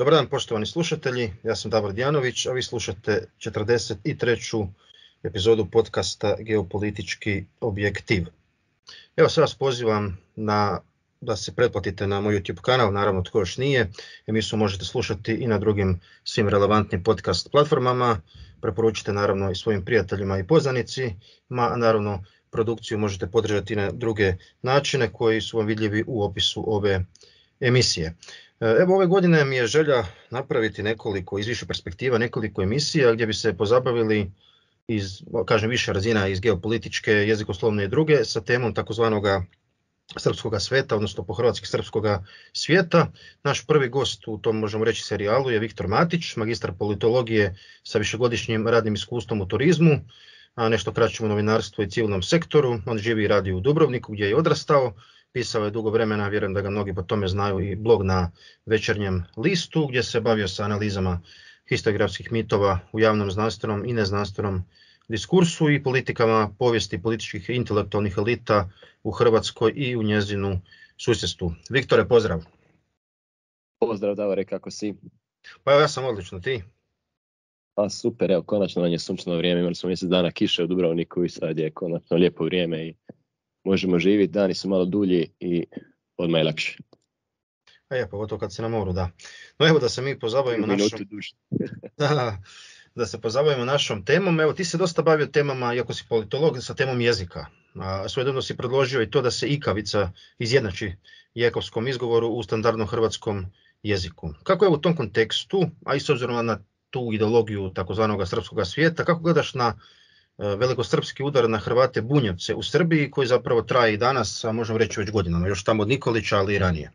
Dobar dan poštovani slušatelji, ja sam Davor Dijanović, a vi slušate 43. epizodu podcasta Geopolitički objektiv. Evo sve vas pozivam da se pretplatite na moj YouTube kanal, naravno tko još nije. Emisiju možete slušati i na drugim svim relevantnim podcast platformama. Preporučite naravno i svojim prijateljima i poznanicima, a naravno produkciju možete podržati na druge načine koji su vam vidljivi u opisu ove emisije. Evo ove godine mi je želja napraviti nekoliko iz više perspektiva, nekoliko emisija gdje bi se pozabavili iz više razina, iz geopolitičke, jezikoslovne i druge, sa temom takozvanoga srpskoga sveta, odnosno po hrvatski srpskoga svijeta. Naš prvi gost u tom, možemo reći, serijalu je Viktor Matić, magistar politologije sa višegodišnjim radnim iskustvom u turizmu, a nešto kraćem u novinarstvu i civilnom sektoru. On živi i radi u Dubrovniku gdje je odrastao. Pisao je dugo vremena, vjerujem da ga mnogi po tome znaju, i blog na Večernjem listu gdje se bavio sa analizama historiografskih mitova u javnom znanstvenom i neznanstvenom diskursu i politikama povijesti političkih i intelektualnih elita u Hrvatskoj i u njezinu susjedstvu. Viktore, pozdrav. Pozdrav Davore, kako si? Pa evo, ja sam odlično, ti? Pa super, evo konačno nam je sunčano vrijeme, imali smo mjesec dana kiše u Dubrovniku i sad je konačno lijepo vrijeme i možemo živjeti, dani su malo dulji i odmah je lakše. Pogotovo kad se na moru, da. No evo da se mi pozabavimo da se pozabavimo našom temom. Evo, ti se dosta bavio temama, iako si politolog, sa temom jezika. Svojedobno si predložio i to da se ikavica izjednači jekovskom izgovoru u standardnom hrvatskom jeziku. Kako je u tom kontekstu, a i s obzirom na tu ideologiju takozvanog srpskoga svijeta, kako gledaš na velikosrpski udar na Hrvate Bunjevce u Srbiji, koji zapravo traje i danas, a možemo reći već godinama, još tamo od Nikolića, ali i ranije?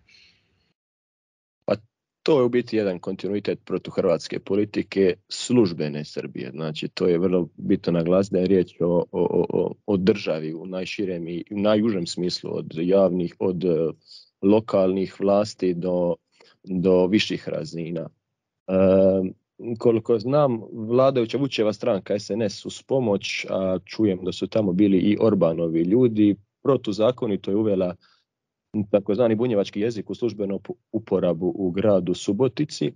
Pa to je u biti jedan kontinuitet protuhrvatske politike službene Srbije. Znači to je vrlo bitno naglasiti da je riječ o državi u najširem i u najužem smislu, od javnih, od lokalnih vlasti do viših razina. Koliko znam, vladajuća Vučićeva stranka SNS uz pomoć, a čujem da su tamo bili i Orbanovi ljudi, protuzakonito je uvela takozvani bunjevački jezik u službenu uporabu u gradu Subotici.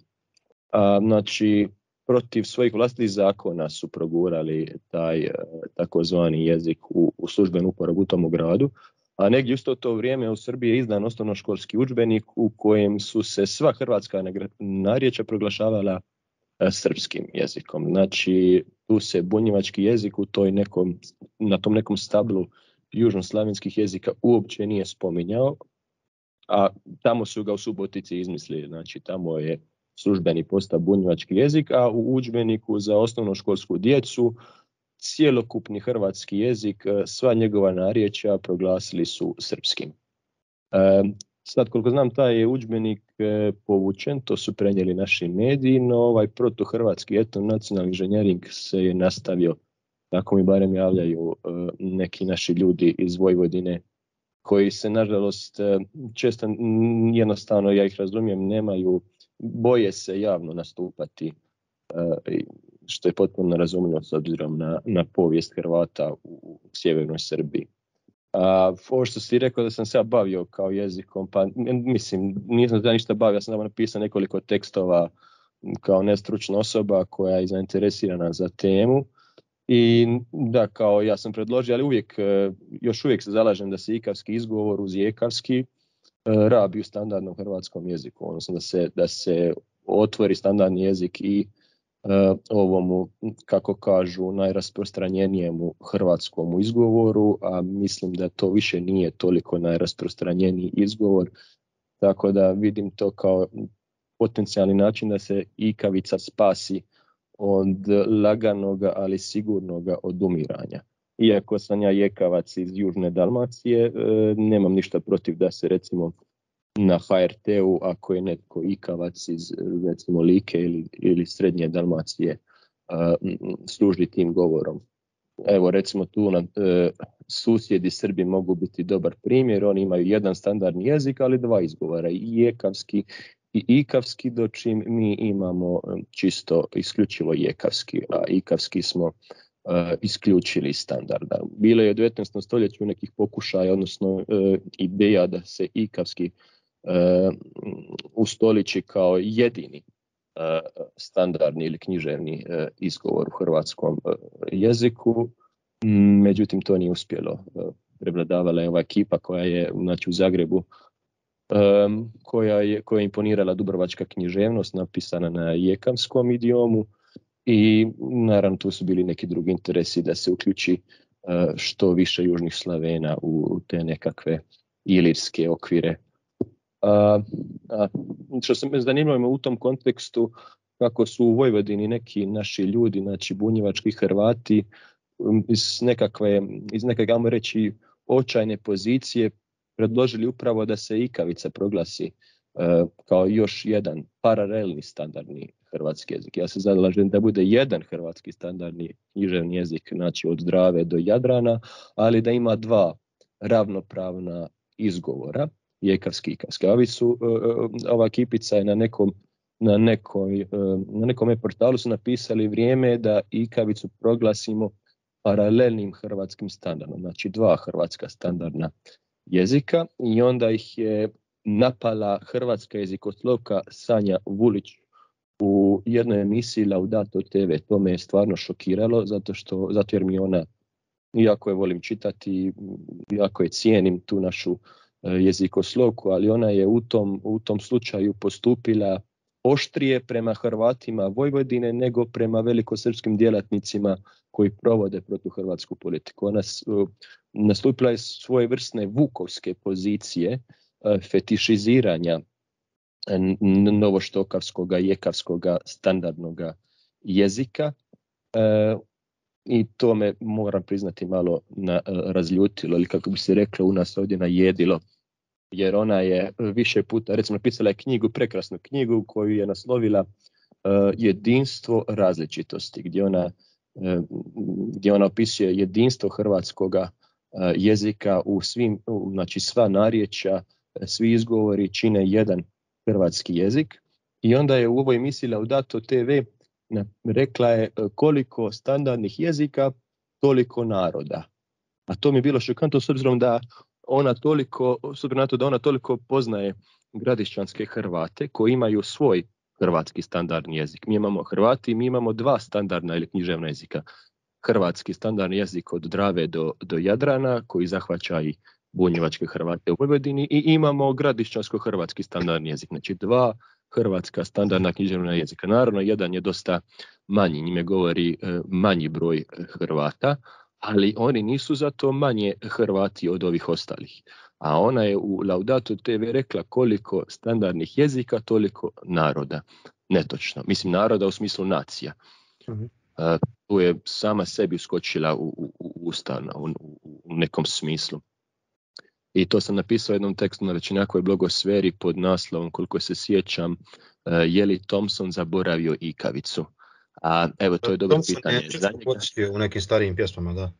Znači, protiv svojih vlastitih zakona su progurali taj takozvani jezik u službenu uporabu u tom gradu. A negdje isto to vrijeme u Srbiji je izdan osnovnoškolski udžbenik u kojem su se sva hrvatska narječja proglašavala srpskim jezikom. Znači, tu se bunjevački jezik na tom nekom stablu južnoslavenskih jezika uopće nije spominjao, a tamo su ga u Subotici izmislili. Znači, tamo je službeni postao bunjevački jezik, a u udžbeniku za osnovnoškolsku djecu cjelokupni hrvatski jezik, sva njegova narječja proglasili su srpskim. Sad, koliko znam, taj je udžbenik povučen, to su prenijeli naši mediji, no ovaj protuhrvatski etnonacionalni inženjering se je nastavio. Tako mi barem javljaju neki naši ljudi iz Vojvodine, koji se, nažalost, često jednostavno, ja ih razumijem, boje se javno nastupati, što je potpuno razumljivo s obzirom na povijest Hrvata u sjevernoj Srbiji. Ovo što si rekao da sam se ja bavio kao jezikom, pa mislim, nisam da ništa bavio, ja sam napisao nekoliko tekstova kao nestručna osoba koja je zainteresirana za temu. I da, kao ja sam predložio, ali još uvijek se zalažem da se ikavski izgovor uz jekavski rabi u standardnom hrvatskom jeziku, odnosno da se otvori standardni jezik i ovomu, kako kažu, najrasprostranjenijemu hrvatskom izgovoru, a mislim da to više nije toliko najrasprostranjeniji izgovor, tako da vidim to kao potencijalni način da se ikavica spasi od laganoga, ali sigurnoga odumiranja. Iako sam ja jekavac iz Južne Dalmacije, nemam ništa protiv da se recimo na HRT-u, ako je netko ikavac iz recimo Like ili Srednje Dalmacije, služi tim govorom. Evo recimo tu susjedi Srbi mogu biti dobar primjer, oni imaju jedan standardni jezik, ali dva izgovora, i jekavski i ikavski, dočim mi imamo čisto isključivo jekavski, a ikavski smo isključili standarda. Bilo je u 19. stoljeću nekih pokušaja, odnosno ideja da se ikavski ustoliči kao jedini standardni ili književni izgovor u hrvatskom jeziku. Međutim, to nije uspjelo. Prevladavala je ova ekipa koja je u Zagrebu, koja je imponirala dubrovačka književnost, napisana na jekavskom idiomu, i naravno tu su bili neki drugi interesi da se uključi što više južnih Slavena u te nekakve ilirske okvire. Što se me zanimalo u tom kontekstu, kako su u Vojvodini neki naši ljudi, znači bunjevački Hrvati, iz nekakve, ajmo reći, očajne pozicije predložili upravo da se ikavica proglasi kao još jedan paralelni standardni hrvatski jezik. Ja se zalažem da bude jedan hrvatski standardni književni jezik, znači od Drave do Jadrana, ali da ima dva ravnopravna izgovora, jekavski i ikavski. Ova kipica je na nekom portalu su napisali vrijeme da ikavicu proglasimo paralelnim hrvatskim standardom, znači dva hrvatska standardna jezika, i onda ih je napala hrvatska jezikoslovka Sanja Vulić u jednoj emisiji Laudato TV. To me je stvarno šokiralo, zato jer mi ona, iako je volim čitati, iako je cijenim tu našu jezikoslovku, ali ona je u tom slučaju postupila oštrije prema Hrvatima Vojvodine nego prema velikosrpskim djelatnicima koji provode protuhrvatsku politiku. Ona nastupila je svojevrsne vukovske pozicije fetišiziranja novoštokavskoga, jekavskoga standardnog jezika, i to me, moram priznati, malo razljutilo, ili kako bi se reklo u nas ovdje, najedilo, jer ona je više puta, recimo, napisala je prekrasnu knjigu koju je naslovila Jedinstvo različitosti, gdje ona opisuje jedinstvo hrvatskoga jezika u svim, znači sva narječja, svi izgovori čine jedan hrvatski jezik. I onda je u ovoj emisiji Laudato TV rekla je koliko standardnih jezika, toliko naroda. A to mi je bilo šokantno, s obzirom da ona toliko poznaje gradišćanske Hrvate koji imaju svoj hrvatski standardni jezik. Mi imamo Hrvati, mi imamo dva standardna ili književna jezika. Hrvatski standardni jezik od Drave do Jadrana, koji zahvaća i bunjevačke Hrvate u Vojvodini, i imamo gradišćansko-hrvatski standardni jezik. Znači dva hrvatska standardna književna jezika. Naravno, jedan je dosta manji, njime govori manji broj Hrvata, ali oni nisu zato manje Hrvati od ovih ostalih. A ona je u Laudato TV rekla koliko standardnih jezika, toliko naroda. Netočno. Mislim, naroda u smislu nacija. Tu je sama sebi skočila u usta u nekom smislu. I to sam napisao u jednom tekstu na Većenjakovoj blogosferi pod naslovom, koliko se sjećam, je li Thompson zaboravio ikavicu? A evo, to je dobro pitanje. Thompson je u nekim starijim pjesmama, da.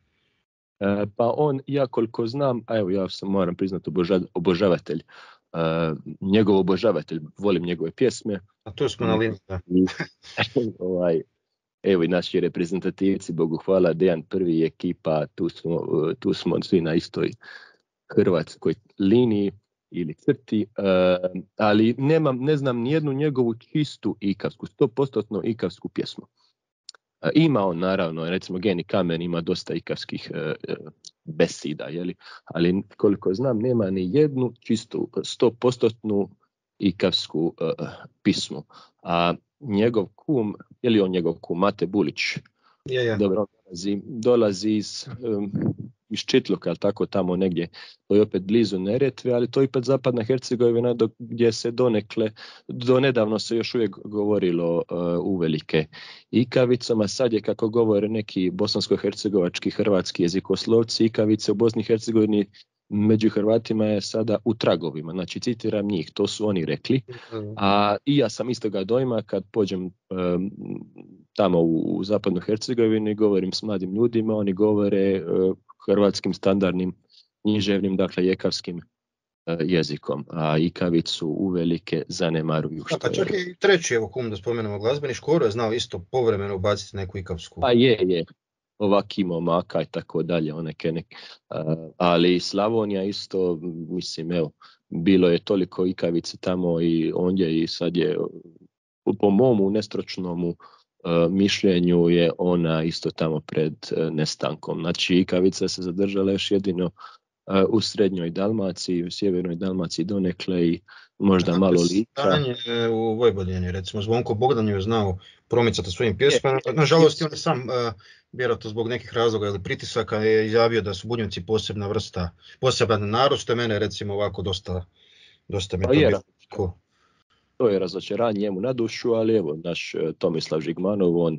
Pa on, ja koliko znam, a evo, ja sam, moram priznati, obožavatelj, njegov obožavatelj, volim njegove pjesme. A tu smo na liniji, da. Evo i naši reprezentativci, Bogu hvala, Dejan Prvi i ekipa, tu smo svi na istoj hrvatskoj liniji ili crti, ali ne znam nijednu njegovu čistu ikavsku, 100% ikavsku pjesmu. Ima on, naravno, recimo Geni Kamen ima dosta ikavskih besida, ali koliko znam nema ni jednu čistu 100% ikavsku pismu. A njegov kum, je li on njegov kum, Mate Bulić? Je. Dobro, dolazi iz Čitluka, ali tako tamo negdje, to je opet blizu Neretve, ali to je opet zapadna Hercegovina, gdje se do nedavno se još uvijek govorilo uvelike ikavicama. Sad je, kako govore neki bosansko-hercegovački hrvatski jezikoslovci, ikavice u Bosni i Hercegovini među Hrvatima je sada u tragovima. Znači, citiram njih, to su oni rekli. A i ja sam istoga dojma kad pođem tamo u zapadnu Hercegovini, govorim s mladim ljudima, oni govore hrvatskim standardnim književnim, dakle jekavskim jezikom, a ikavicu uvelike zanemaruju. Pa čak i treći, evo kum da spomenemo, glazbeni Škoro je znao isto povremeno ubaciti neku ikavsku. Pa je. Ovakimo Maka i tako dalje, ali Slavonija isto, mislim, evo, bilo je toliko ikavice tamo i ondje i sad je po momu nestročnomu mišljenju je ona isto tamo pred nestankom. Znači ikavica se zadržala još jedino u srednjoj Dalmaciji, u sjevernoj Dalmaciji donekle i možda malo Lika. Stanje u Vojvodini, recimo Zvonko Bogdan je znao promicati svojim pjesmama. Nažalost, on je sam, vjerojatno zbog nekih razloga ili pritisaka, je izjavio da su Bunjevci posebna vrsta, poseban narod, što je mene recimo ovako dosta mi to bilo. To je razočaranje njemu na dušu, ali evo, naš Tomislav Žigmanov, on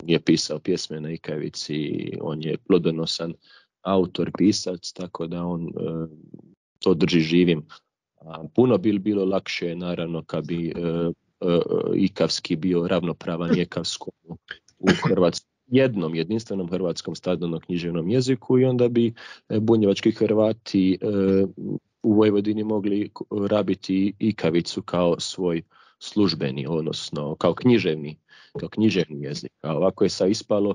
je pisao pjesme na ikavici, on je plodonosan autor, pisac, tako da on to drži živim. Puno bi bilo lakše, naravno, kad bi ikavski bio ravnopravan jekavskom u jednom jedinstvenom hrvatskom standardno-književnom jeziku i onda bi bunjevački Hrvati u Vojvodini mogli rabiti ikavicu kao svoj službeni, odnosno kao književni jezik. A ovako je sad ispalo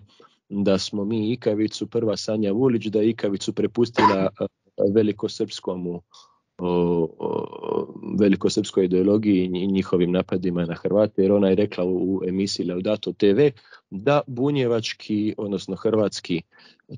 da smo mi ikavicu, prva Sanja Vulić, da je ikavicu prepustila velikosrpskoj ideologiji i njihovim napadima na Hrvate, jer ona je rekla u emisiji Laudato TV da bunjevački, odnosno hrvatski,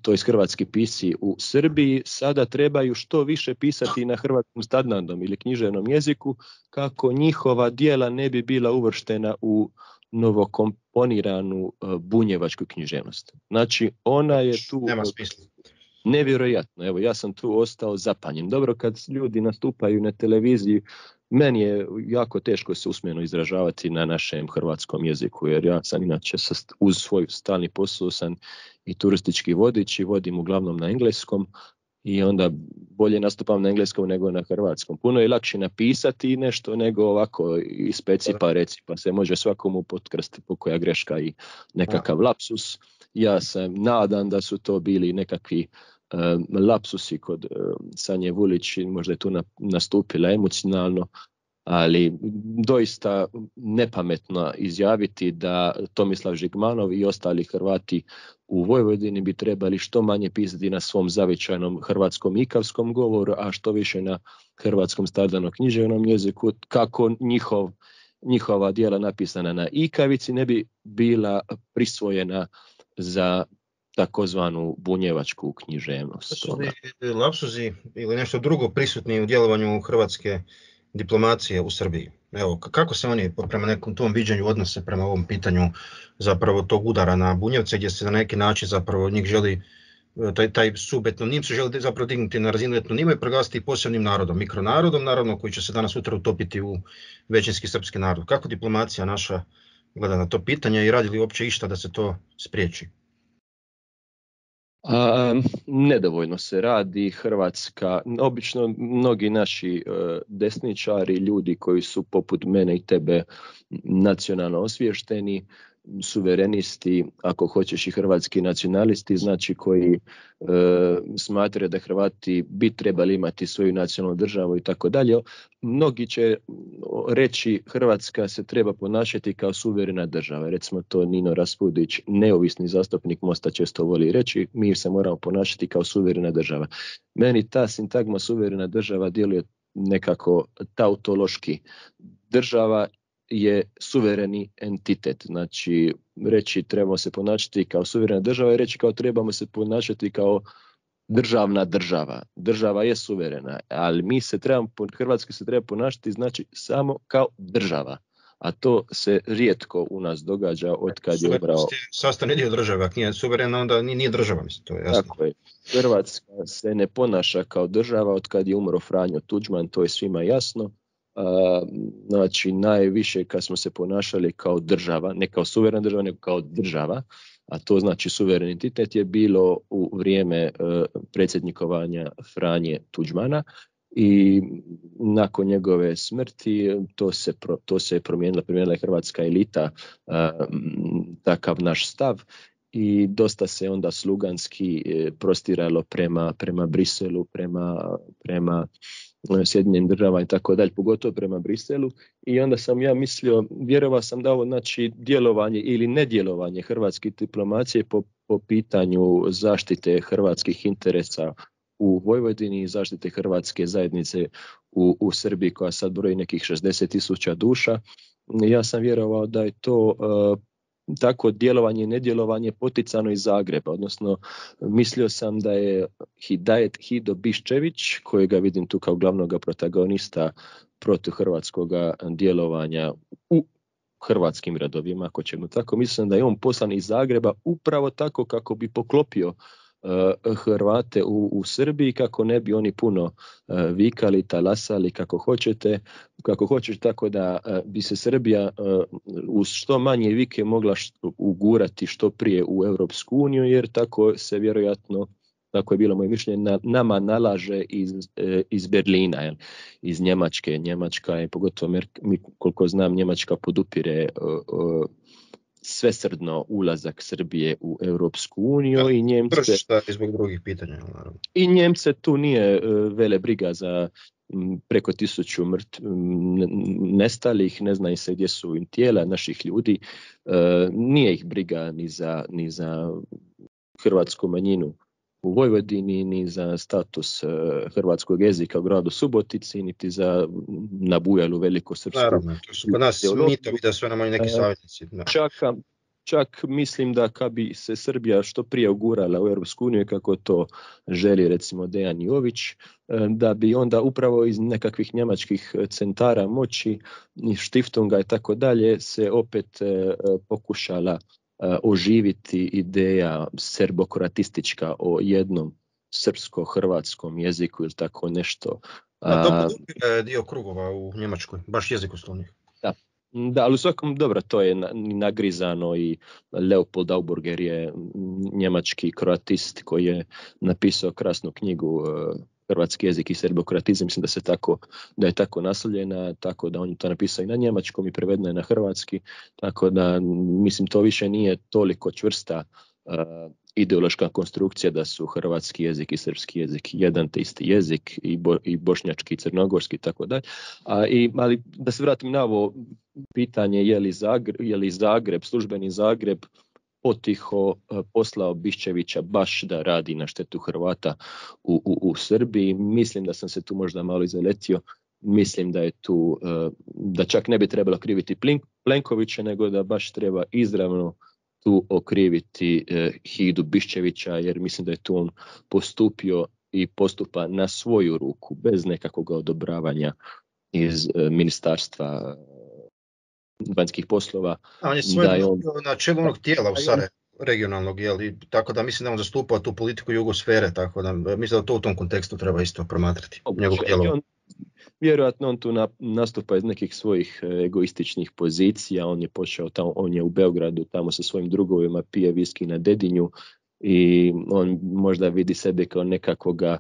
to je hrvatski pisci u Srbiji, sada trebaju što više pisati na hrvatskom standardnom ili književnom jeziku kako njihova djela ne bi bila uvrštena u novokomponiranu bunjevačku književnost. Znači, ona je tu... Nema smisla. Nevjerojatno, evo ja sam tu ostao zapanjen. Dobro, kad ljudi nastupaju na televiziji, meni je jako teško se usmeno izražavati na našem hrvatskom jeziku, jer ja sam inače uz svoj stalni posao sam i turistički vodič i vodim uglavnom na engleskom i onda bolje nastupam na engleskom nego na hrvatskom. Puno je lakše napisati nešto nego ovako ispeci pa reci, pa se može svakomu potkrsti pokoja greška i nekakav lapsus. Ja se nadam da su to bili nekakvi lapsusi kod Sanje Vulić, možda je tu nastupila emocionalno, ali doista nepametno izjaviti da Tomislav Žigmanov i ostali Hrvati u Vojvodini bi trebali što manje pisati na svom zavičajnom hrvatskom ikavskom govoru, a što više na hrvatskom standardno-književnom jeziku, kako njihova djela napisana na ikavici ne bi bila prisvojena za takozvanu bunjevačku književnost. Lapsuzi ili nešto drugo prisutni u djelovanju hrvatske diplomacije u Srbiji. Evo, kako se oni prema nekom tom viđenju odnose prema ovom pitanju zapravo tog udara na Bunjevce, gdje se na neki način zapravo njih želi taj subetnonim se želi zapravo dignuti na razinu etnonima i proglasiti posebnim narodom, mikronarodom, naravno koji će se danas sutra utopiti u većinski srpski narod. Kako diplomacija naša gleda na to pitanje i radi li uopće išta da se to spriječi? Nedovoljno se radi. Hrvatska, obično mnogi naši desničari, ljudi koji su poput mene i tebe nacionalno osviješteni, suverenisti, ako hoćeš i hrvatski nacionalisti, znači koji smatraju da Hrvati bi trebali imati svoju nacionalnu državu i tako dalje. Mnogi će reći Hrvatska se treba ponašati kao suverena država. Recimo to Nino Raspudić, neovisni zastupnik Mosta, često voli reći, mi se moramo ponašati kao suverena država. Meni ta sintagma suverena država djeluje nekako tautološki. Država je suvereni entitet, znači reći trebamo se ponašati kao suverena država i reći kao trebamo se ponašati kao državna država. Država je suverena, ali Hrvatska se treba ponašati znači samo kao država, a to se rijetko u nas događa od kad je ubrao... Sastavni dio države, ako nije suverena onda nije država, mislim, to je jasno. Tako je. Hrvatska se ne ponaša kao država od kad je umro Franjo Tuđman, to je svima jasno. Znači najviše kad smo se ponašali kao država, ne kao suverena država, nego kao država, a to znači suverenitet je bilo u vrijeme predsjednikovanja Franje Tuđmana i nakon njegove smrti to se promijenila je hrvatska elita, takav naš stav i dosta se onda sluganski prostiralo prema Briselu, prema Sjedinjenim državama i tako dalje, pogotovo prema Briselu, i onda sam ja mislio, vjerovao sam da ovo znači djelovanje ili nedjelovanje hrvatske diplomacije po pitanju zaštite hrvatskih interesa u Vojvodini i zaštite hrvatske zajednice u Srbiji koja sad broji nekih 60,000 duša, ja sam vjerovao da je to tako djelovanje i nedjelovanje poticano iz Zagreba, odnosno mislio sam da je Hidajet Hido Biščević, kojega vidim tu kao glavnog protagonista protiv hrvatskog djelovanja u hrvatskim redovima, ako ćemo tako, mislim da je on poslan iz Zagreba upravo tako kako bi poklopio Hrvate u Srbiji, kako ne bi oni puno vikali, talasali kako hoćete, tako da bi se Srbija uz što manje vike mogla ugurati što prije u Europsku uniju, jer tako se vjerojatno, tako je bilo moje mišljenje, nama nalaže iz Berlina, jel? Iz Njemačke. Njemačka je, pogotovo koliko znam, Njemačka podupire svesrdno ulazak Srbije u Europsku uniju i Njemce... zbog drugih pitanja, naravno. I Njemce tu nije vele briga za preko 1000 nestalih, ne zna se gdje su im tijela naših ljudi, nije ih briga ni za hrvatsku manjinu u Vojvodini, ni za status hrvatskog jezika u gradu Subotici, niti za nabujalu velikosrpsku. Naravno, to su kod nas mitovi da su nam neki savjetnici. Čak mislim da kad bi se Srbija što prije ugurala u Europsku uniju, kako to želi recimo Dejan Jović, da bi onda upravo iz nekakvih njemačkih centara moći, Štiftunga i tako dalje, se opet pokušala oživiti ideja serbokroatistička o jednom srpsko-hrvatskom jeziku ili tako nešto. To je dio krugova u Njemačkoj, baš jezikoslovnih. Da, ali u svakom dobro, to je nagrizano i Leopold Auburger je njemački kroatist koji je napisao krasnu knjigu Hrvatski jezik i serbokroatizam, mislim da je tako naslovljena, tako da on je to napisao i na njemačkom i prevedeno je na hrvatski, tako da mislim to više nije toliko čvrsta ideološka konstrukcija da su hrvatski jezik i srpski jezik jedan te isti jezik i bošnjački i crnogorski i tako dalje. Ali da se vratim na ovo pitanje je li Zagreb, službeni Zagreb potiho poslao Biščevića baš da radi na štetu Hrvata u Srbiji. Mislim da sam se tu možda malo izaletio. Mislim da je tu, da čak ne bi trebalo kriviti Plenkovića, nego da baš treba izravno tu okriviti Hidu Biščevića, jer mislim da je tu on postupio i postupa na svoju ruku, bez nekakvog odobravanja iz ministarstva vanjskih poslova. On je na čelu onog tijela u Sarajevu, regionalnog, tako da mislim da on zastupao tu politiku jugosfere, tako da mislim da to u tom kontekstu treba isto promatrati. Vjerojatno on tu nastupa iz nekih svojih egoističnih pozicija, on je počeo tamo, on je u Beogradu tamo sa svojim drugovima, pije viski na Dedinju i on možda vidi sebe kao nekakvoga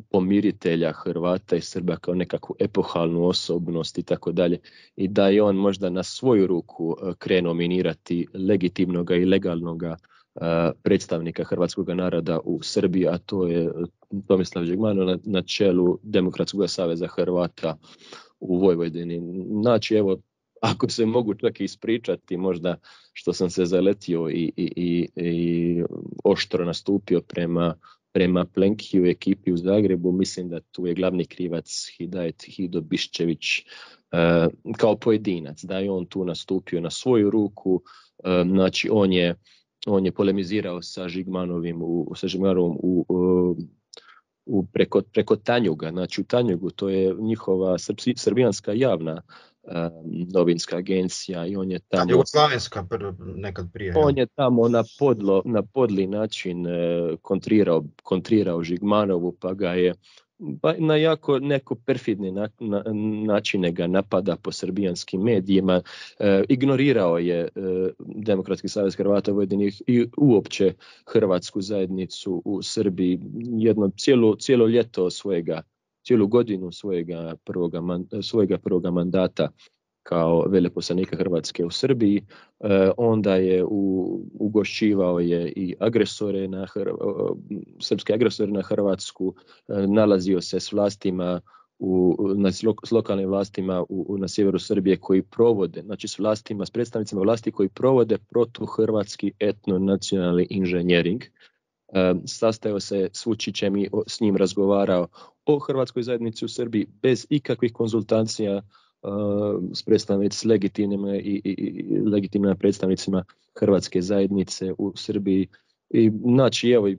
pomiritelja Hrvata i Srba, kao nekakvu epohalnu osobnost i tako dalje, i da je on možda na svoju ruku krenuo minirati legitimnoga i legalnoga predstavnika hrvatskog naroda u Srbiji, a to je Tomislav Žigmanov na čelu Demokratskog saveza Hrvata u Vojvodini. Znači, evo, ako se mogu čak ispričati možda što sam se zaletio i oštro nastupio prema Plenkiju i ekipi u Zagrebu, mislim da tu je glavni krivac Hidajet Hido Biščević kao pojedinac, da je on tu nastupio na svoju ruku. Znači, on je polemizirao sa Žigmanovom preko Tanjuga. Znači u Tanjugu, to je njihova srbijanska javna novinska agencija, i on je tamo... Jugoslavenska nekad prije. On je tamo na podli način kontrirao Žigmanovu, pa ga je na jako neko perfidni načine ga napada po srbijanskim medijima, ignorirao je Demokratski savez Hrvata u Vojvodini i uopće hrvatsku zajednicu u Srbiji jedno cijelo ljeto cijelu godinu svojega prvoga mandata kao veleposlanika Hrvatske u Srbiji. Onda je ugošćivao je i srpske agresore na Hrvatsku, nalazio se s vlastima s lokalnim vlastima na sjeveru Srbije koji provode, znači s predstavnicima vlasti koji provode protuhrvatski etnonacionalni inženjering. Sastajao se s Vučićem i s njim razgovarao o hrvatskoj zajednici u Srbiji bez ikakvih konzultacija s legitimnim legitimnim predstavnicima hrvatske zajednice u Srbiji. I znači evo,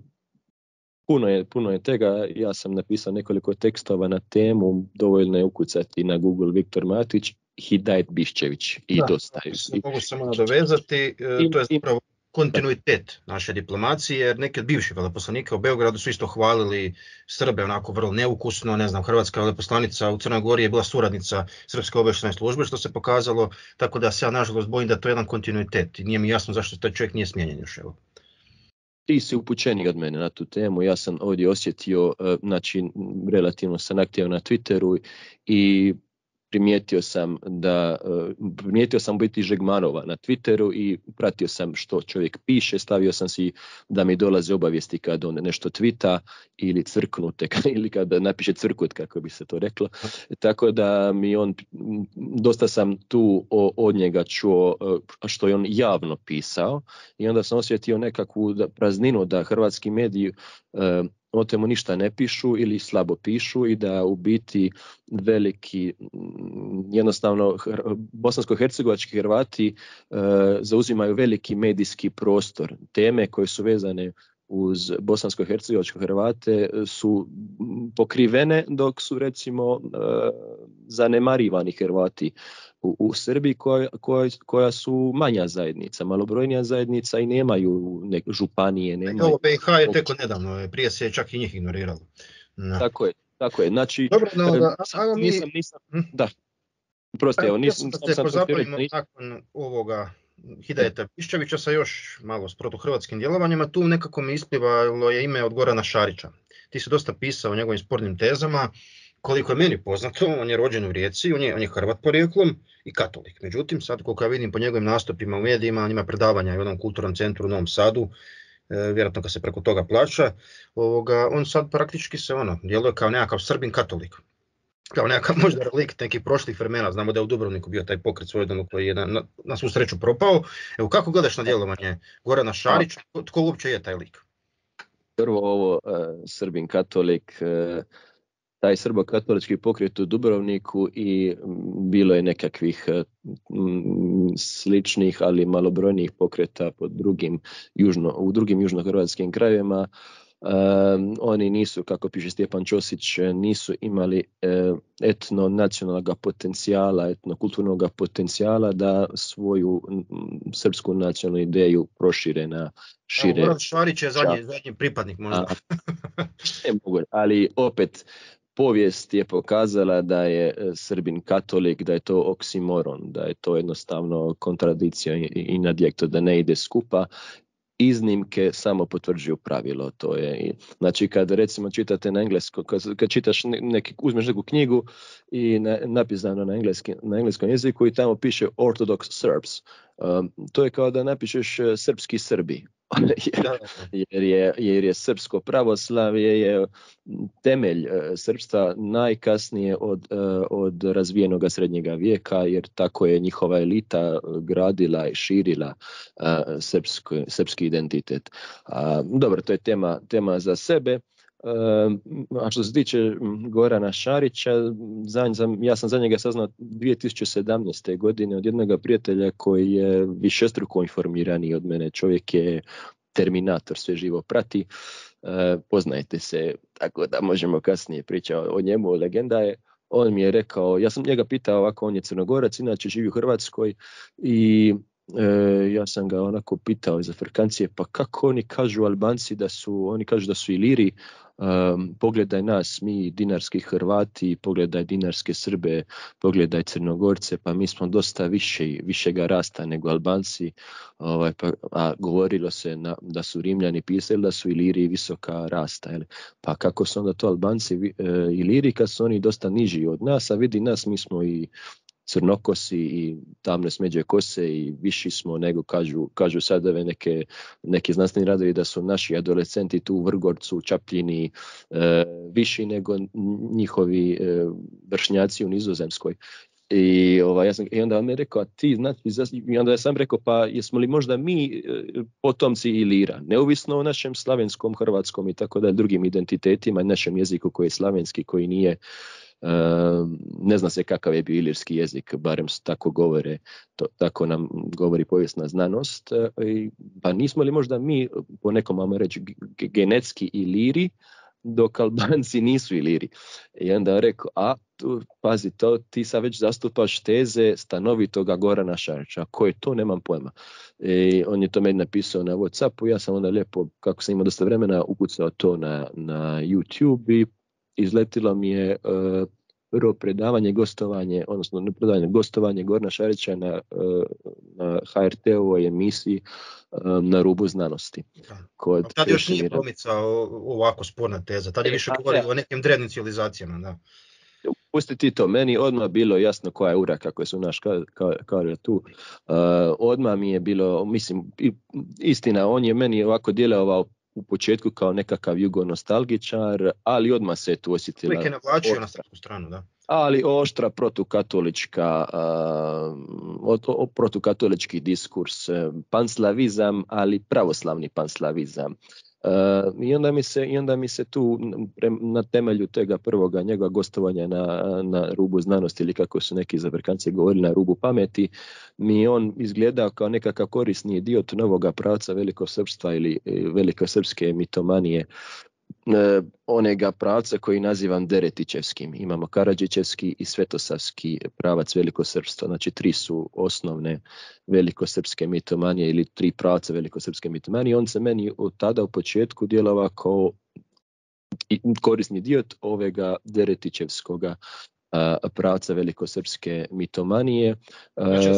puno je tega. Ja sam napisao nekoliko tekstova na temu, dovoljno je ukucati na Google Viktor Matić, Hidajet Biščević i dosta. Mogu samo nadovezati, to je zapravo kontinuitet naše diplomacije, jer neki od bivših veleposlanika u Beogradu su isto hvalili Srbe onako vrlo neukusno. Ne znam, hrvatska veleposlanica u Crnoj Gori je bila suradnica Srpske obavještajne službe, što se pokazalo, tako da se ja nažalost bojim da to je jedan kontinuitet i nije mi jasno zašto taj čovjek nije smijenjen još. Evo. Ti si upućeniji od mene na tu temu. Ja sam ovdje osjetio, znači relativno sam aktivan na Twitteru i primijetio sam biti Žegmanova na Twitteru i pratio sam što čovjek piše, stavio sam si da mi dolaze obavijesti kad on nešto tvita ili crknute, ili kada napiše crkut, kako bi se to reklo. Tako da mi on, dosta sam tu od njega čuo što je on javno pisao i onda sam osjetio nekakvu prazninu da hrvatski mediji o temu ništa ne pišu ili slabo pišu i da u biti veliki, jednostavno bosansko-hercegovački Hrvati zauzimaju veliki medijski prostor. Teme koje su vezane uz bosansko-hercegovačke Hrvate su pokrivene, dok su recimo zanemarivani Hrvati u Srbiji koja su manja zajednica, malobrojnija zajednica i nemaju županije. Ovo BiH je teko nedavno, prije se čak i njih ignoriralo. No. Tako je. Znači, dobro, nisam pozabavimo nakon ovoga Hidajeta Biščevića sa još malo s protuhrvatskim djelovanjima. Tu nekako mi isplivalo je ime od Gorana Šarića. Ti si dosta pisao o njegovim spornim tezama. Koliko je meni poznato, on je rođen u Rijeci, on je Hrvat porijeklom i katolik. Međutim, sad koliko ja vidim po njegovim nastupima u medijima, on ima predavanja u jednom kulturnom centru u Novom Sadu, vjerojatno kad se preko toga plaća, on sad praktički se djeluje kao nekakav Srbin katolik. Kao nekakav možda relikt nekih prošlih vremena. Znamo da je u Dubrovniku bio taj pokret svojedobno koji je na svu sreću propao. Evo, kako gledaš na djelovanje Gorana Šarića? Tko uopće je taj lik? Prvo ovo Srbin katolik, taj srbo-katolički pokret u Dubrovniku i bilo je nekakvih sličnih, ali malobrojnijih pokreta u drugim južnohrvatskim krajevima. Oni nisu, kako piše Stjepan Ćosić, nisu imali etno-nacionalnog potencijala, etnokulturnog potencijala da svoju srpsku nacionalnu ideju prošire na šire. Goran Šarić je zadnji pripadnik možda. Ali opet, povijest je pokazala da je Srbin katolik, da je to oksimoron, da je to jednostavno kontradikcija i nadjekto, da ne ide skupa. Iznimke samo potvrđuju pravilo. To je, znači kad recimo čitate na engleskom, kad čitaš uzmeš neku knjigu i napisano na engleskom jeziku i tamo piše Orthodox Serbs, to je kao da napišeš srpski Srbi. jer je srpsko pravoslavlje je temelj srpstva najkasnije od razvijenog srednjega vijeka, jer tako je njihova elita gradila i širila srpski identitet. Dobro, to je tema za sebe. A što se tiče Gorana Šarića, ja sam za njega saznao 2017. godine od jednog prijatelja koji je višestruko informiraniji od mene. Čovjek je terminator, sve živo prati. Poznajete se, tako da možemo kasnije pričati o njemu. Legenda je. On mi je rekao, ja sam njega pitao ovako, on je Crnogorac, inače živi u Hrvatskoj i ja sam ga onako pitao iz Afrikancije, pa kako oni kažu Albanci oni kažu da su Iliri, pogledaj nas, mi dinarski Hrvati, pogledaj dinarske Srbe, pogledaj Crnogorce, pa mi smo dosta višega rasta nego Albanci, a govorilo se da su Rimljani pisali da su Iliri visoka rasta, pa kako su onda to Albanci Iliri kad su oni dosta niži od nas, a vidi nas, mi smo i crnokosi i tamne smeđe kose i viši smo nego kažu sad ove neke znanstveni radovi da su naši adolescenti tu u Vrgorcu, u Čapljini viši nego njihovi vršnjaci u Nizozemskoj. I onda on mi je rekao, i onda sam rekao, pa jesmo li možda mi potomci Ilira, neovisno o našem slavenskom, hrvatskom i tako da drugim identitetima i našem jeziku koji je slavenski, koji nije Ne zna se kakav je bio ilirski jezik, barem tako govore, tako nam govori povijesna znanost. Pa nismo li možda mi, po nekom vama reći, genetski Iliri, dok Albanci nisu Iliri. I onda je rekao, pazi, ti sad već zastupaš teze stanovitoga Gorana Šarića. Ko je to, nemam pojma. On je to meni napisao na WhatsAppu, ja sam onda lijepo, kako sam imao dosta vremena, ukucao to na YouTube i izletilo mi je prvo predavanje, gostovanje, odnosno ne predavanje, gostovanje Gorana Šarića na HRT-ovoj emisiji Na rubu znanosti. Tad još nije promicao ovako sporna teza, tad je više govorio o nekim drevnim civilizacijama. Da. Pusti ti to, meni odmah bilo jasno koja je ura, kako su naš kaže tu. Odmah mi je bilo, mislim, istina, on je meni ovako djelovao u početku kao nekakav jugonostalgičar, ali odmah se tu osjetila. Uvijek je navlačio na srpsku stranu, da. Ali oštra protukatolički diskurs, panslavizam, ali pravoslavni panslavizam. I onda mi se tu na temelju tega prvoga njegova gostovanja na rubu znanosti, ili kako su neki zabrkanci govorili, na rubu pameti, mi on izgledao kao nekakav korisni dio novoga pravca velikosrpstva ili velikosrpske mitomanije, onega pravca koji nazivam Deretićevskim. Imamo Karadžićevski i Svetosavski pravac velikosrpstva. Znači 3 su osnovne velikosrpske mitomanije ili 3 pravca velikosrpske mitomanije. On se meni od tada u početku djelovao kao korisni dio ovega Deretićevskoga pravca velikosrpske mitomanije. Znači,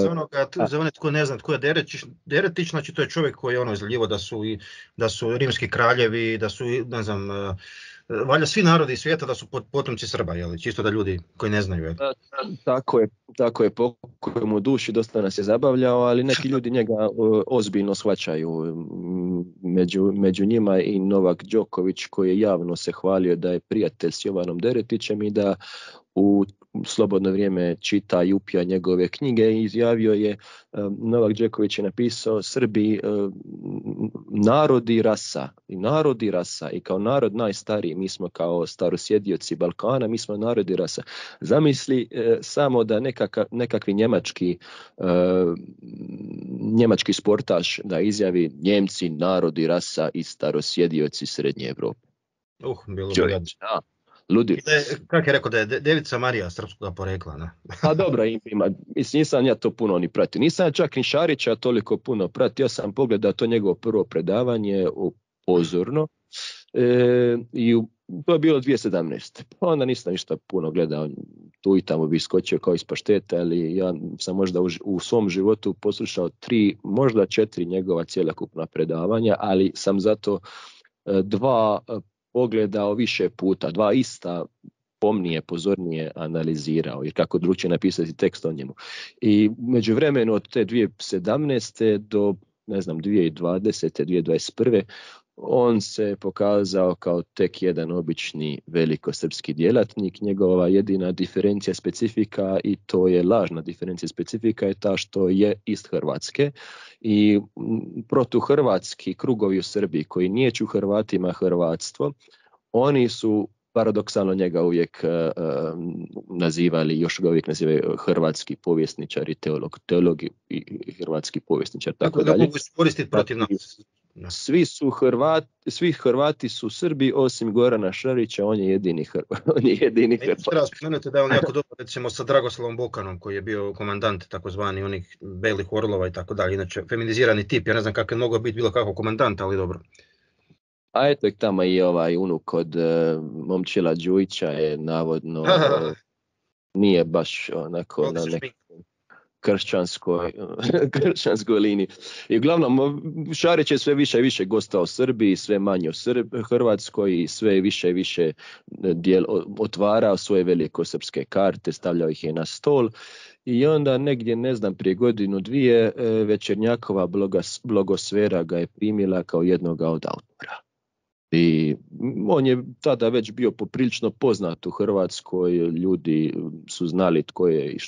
za one tko ne zna tko je Deretić, znači to je čovjek koji je izljivo da su rimski kraljevi, da su, ne znam, valjda svi narodi svijeta da su potomci Srba, jel? Čisto da ljudi koji ne znaju. Tako je, pokoj mu duši, dosta nas je zabavljao, ali neki ljudi njega ozbiljno shvaćaju. Među njima i Novak Đoković, koji je javno se hvalio da je prijatelj s Jovanom Deretićem i da u slobodno vrijeme čita i upija njegove knjige i izjavio je, Novak Đoković je napisao, Srbi narod i rasa i kao narod najstariji, mi smo kao starosjedioci Balkana, mi smo narod i rasa. Zamisli samo da nekakvi njemački sportaš da izjavi Njemci, narod i rasa i starosjedioci Srednje Evrope. Bilo bi Ludilo. Kako je rekao da je Devica Marija srpskoga porekla? Ne? Pa dobro, ima. Mislim, nisam ja to puno ni pratio. Nisam ja čak ni Šarića toliko puno pratio. Ja sam pogledao to njegovo prvo predavanje pozorno. I to je bilo 2017. Pa onda nisam ništa puno gledao. Tu i tamo bi iskočio kao iz pašteta, ali ja sam možda u svom životu poslušao 3, možda 4 njegova cjelokupna predavanja, ali sam zato 2 pogledao više puta, 2 ista pomnije, pozornije analizirao, jer kako drugčije napisati tekst o njemu. I međuvremenu od te 2017. do, 2020. 2021. on se pokazao kao tek jedan obični velikosrpski djelatnik. Njegova jedina diferencija specifika, i to je lažna diferencija specifika, je ta što je iz Hrvatske i protuhrvatski krugovi u Srbiji koji niječu Hrvatima hrvatstvo, oni su paradoksalno njega uvijek nazivali, još ga uvijek nazivaju hrvatski povjesničar i teolog i hrvatski povjesničar. Tako da mogu iskoristiti protiv nas. Svi Hrvati su Srbi osim Gorana Šarića, on je jedini Hrvat. Treba spomenuti da je on jako dobro, recimo, sa Dragoslavom Bokanom, koji je bio komandant takozvani onih belih orlova i tako dalje. Inače, feminizirani tip, ja ne znam kako je mogao biti bilo kako komandant, ali dobro. A eto i tamo i ovaj unuk od Momčila Đujića je navodno nije baš onako na nekoj kršćanskoj liniji. I uglavnom Šarić je sve više i više gostao Srbiji, sve manje u Hrvatskoj i sve više i više otvarao svoje velikosrpske karte, stavljao ih je na stol. I onda negdje, prije 1-2 Večernjakova blogosfera ga je primila kao jednoga od autora. I on je tada već bio poprilično poznat u Hrvatskoj, ljudi su znali tko je i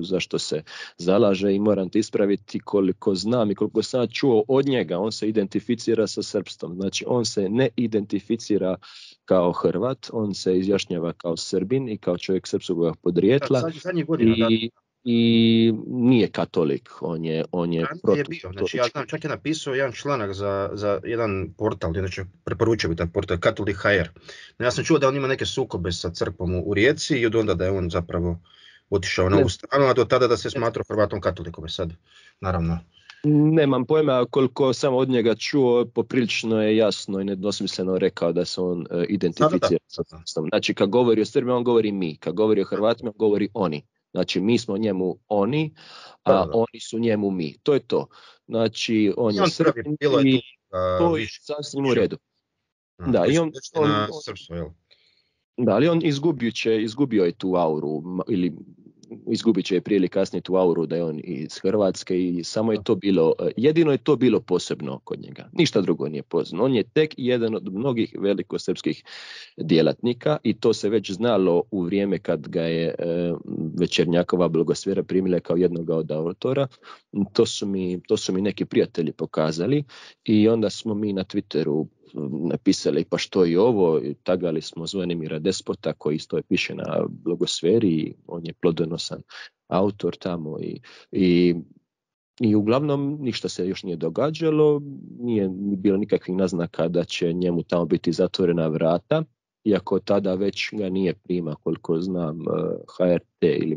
zašto se zalaže, i moram te ispraviti, koliko znam i koliko sam čuo od njega, on se identificira sa srpstvom. Znači on se ne identificira kao Hrvat, on se izjašnjava kao Srbin i kao čovjek srpskog podrijetla i nije katolik, on je protiv. Znači, ja znam, čak je napisao jedan članak za jedan portal, znači preporučio bi taj portal, Katolik.hr. Ja sam čuo da on ima neke sukobe sa crkvom u Rijeci i od onda da je on zapravo otišao na ovu stranu, a do tada da se smatrao Hrvatom katolikom. Sad, naravno. Nemam pojma, koliko sam od njega čuo, poprilično je jasno i nedvosmisleno rekao da se on identificira. Znači, kad govori o Srbima, on govori mi. Kad govori o Hrvatima, on govori oni. Znači, mi smo njemu oni, a oni su njemu mi. To je to. Znači, on je Srbin i to je sasvim u redu. Da, i ali on izgubio je tu auru, ili izgubit će prije ili kasnije tu auru da je on iz Hrvatske i samo je to bilo, jedino je to bilo posebno kod njega. Ništa drugo nije posebno. On je tek jedan od mnogih velikosrpskih djelatnika i to se već znalo u vrijeme kad ga je Večernjakova blagosfera primila kao jednog od autora. To su mi neki prijatelji pokazali i onda smo mi na Twitteru napisali pa što je ovo, tagali smo Zvonimira Despota koji isto piše na blogosferi, on je plodonosan autor tamo i uglavnom ništa se još nije događalo, nije bilo nikakvih naznaka da će njemu tamo biti zatvorena vrata, iako tada već ga nije prima, koliko znam, HRT ili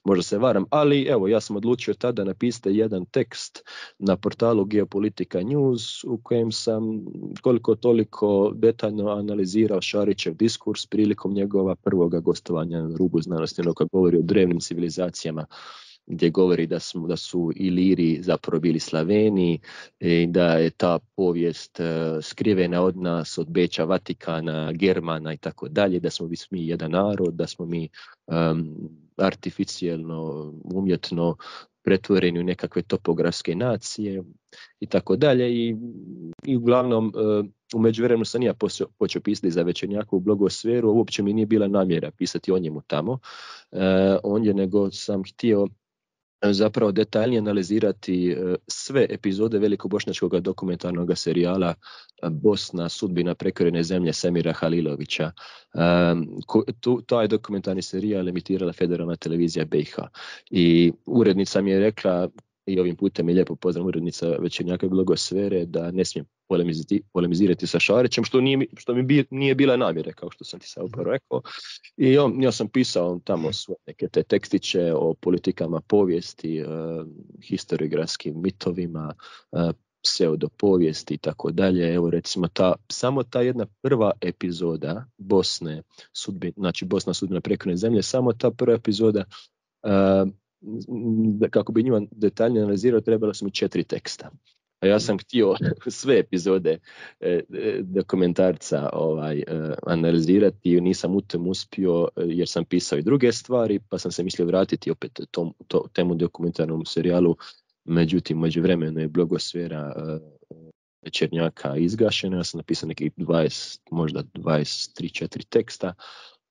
možda se varam, ali evo, ja sam odlučio tada napisati jedan tekst na portalu Geopolitika News u kojem sam koliko toliko detaljno analizirao Šarićev diskurs prilikom njegova prvoga gostovanja na Rubu znanosti, ono kad govori o drevnim civilizacijama, gdje govori da su Iliri zapravo bili Slaveni i da je ta povijest skrivena od nas, od Beča, Vatikana, Germana i tako dalje, da smo mi jedan narod, da smo mi artificijelno, umjetno pretvoreni u nekakve topografske nacije i tako dalje i uglavnom u međuvremenu sam ja počeo pisati za Večernjakovu blogosferu, uopće mi nije bila namjera pisati o njemu tamo, nego sam htio zapravo detaljnije analizirati sve epizode velikobošnjačkog dokumentarnog serijala Bosna, sudbina prekorene zemlje Semira Halilovića. Taj dokumentarni serijal emitirala Federalna televizija BiH. I urednica mi je rekla, i ovim putem je lijepo pozdrav urednica Večernjakove blogosfere, da ne smijem polemizirati sa Šarićem, što mi nije bila namjera, kao što sam ti sad upravo rekao. I ja sam pisao tamo svoje neke te tekstiće o politikama povijesti, historiografskim mitovima, pseudopovijesti i tako dalje. Evo recimo samo ta jedna prva epizoda Bosne, Bosna sudbina prekorene zemlje, samo ta prva epizoda, kako bi njima detaljnije analizirao, trebalo su mi 4 teksta. A ja sam htio sve epizode dokumentarca analizirati i nisam u tom uspio jer sam pisao i druge stvari, pa sam se mislio vratiti opet temu dokumentarnom serijalu. Međutim, međuvremeno je blogosfera Večernjaka izgašena, ja sam napisao nekih možda 23-4 teksta,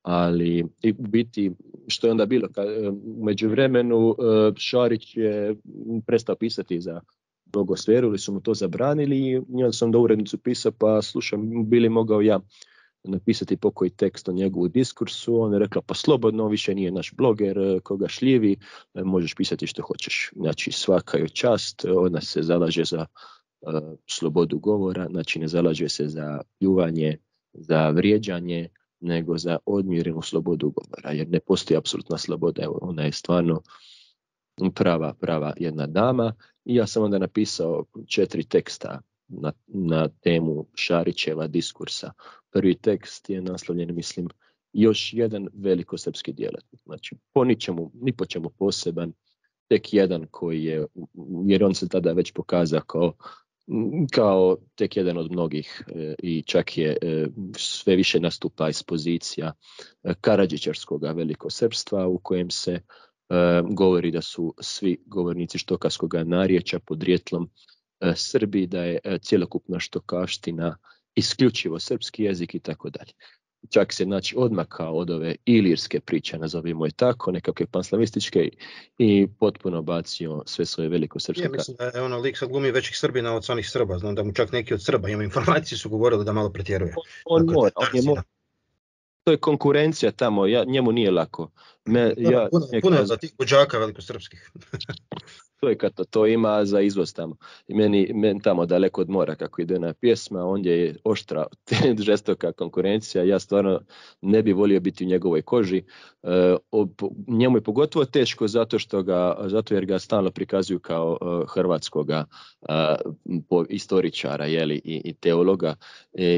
ali u biti što je onda bilo, u međuvremenu Šarić je prestao pisati za blogosferu ili su mu to zabranili i onda sam do urednicu pisao, pa slušam, bili mogao ja napisati pokoji tekst o njegovu diskursu, on je rekla pa slobodno, više nije naš bloger, koga šljivi, možeš pisati što hoćeš. Znači svaka je čast, ona se zalaže za slobodu govora, znači ne zalaže se za pljuvanje, za vrijeđanje, nego za odmjerenu slobodu govora, jer ne postoji apsolutna sloboda, evo, ona je stvarno prava jedna dama i ja sam onda napisao 4 teksta na temu Šarićeva diskursa. Prvi tekst je naslovljen, mislim, još jedan velikosrpski djelatnik, znači ni po čemu poseban, tek jedan koji je, jer on se tada već pokazao kao tek jedan od mnogih i čak je sve više nastupa iz pozicija karadžićarskog velikosrpstva u kojem se govori da su svi govornici štokavskog narječja podrijetlom Srbi, da je cjelokupna štokaština isključivo srpski jezik i tako dalje. čak se znači odmakao od ove ilirske priče, nazovimo je tako, nekakve panslavističke i potpuno bacio sve svoje velikosrpske. Mislim da je ono lik sad glumi većih Srbina od samih Srba, znam da mu čak neki od Srba, ima informacije, su govorili da malo pretjeruje. To je konkurencija tamo, njemu nije lako. Puno je za tih buđaka velikosrpskih. To ima za izvoz tamo. I meni tamo daleko od mora kako ide na pjesma, ondje je oštra, žestoka konkurencija. Ja stvarno ne bi volio biti u njegovoj koži. Njemu je pogotovo teško zato jer ga stalno prikazuju kao hrvatskoga istoričara i teologa.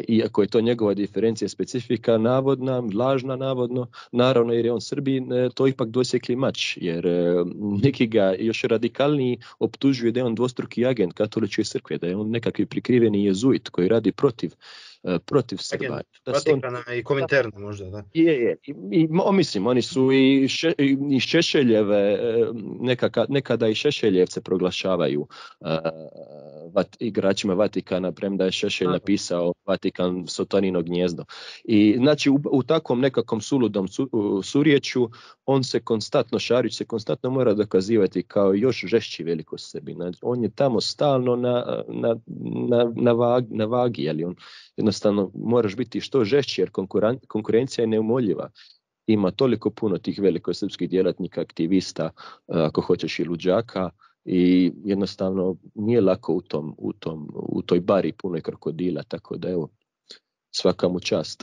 Iako je to njegova diferencija specifika, navodna, lažna naravno jer je on Srbin, to ipak dosjekli mač, jer neki ga još radikalniji optužuje da je on dvostruki agent katoličke crkve, da je on nekakvi prikriveni jezuit koji radi protiv Srba. Vatikana i Kominterna možda, da. Mislim, oni su i Šešeljeve, nekada i Šešeljevce proglašavaju igračima Vatikana, premda je Šešelj napisao Vatikan Sotonino gnjezdo. I znači u takvom nekakvom suludom surječju on se konstantno, Šarić se konstantno mora dokazivati kao još žešći velikosrbin. On je tamo stalno na vagi, jel on jednostavno moraš biti što žešći jer konkurencija je neumoljiva. Ima toliko puno tih velikosrpskih djelatnika, aktivista, ako hoćeš i luđaka, i jednostavno nije lako u toj bari punoj krokodila, tako da evo, svaka mu čast.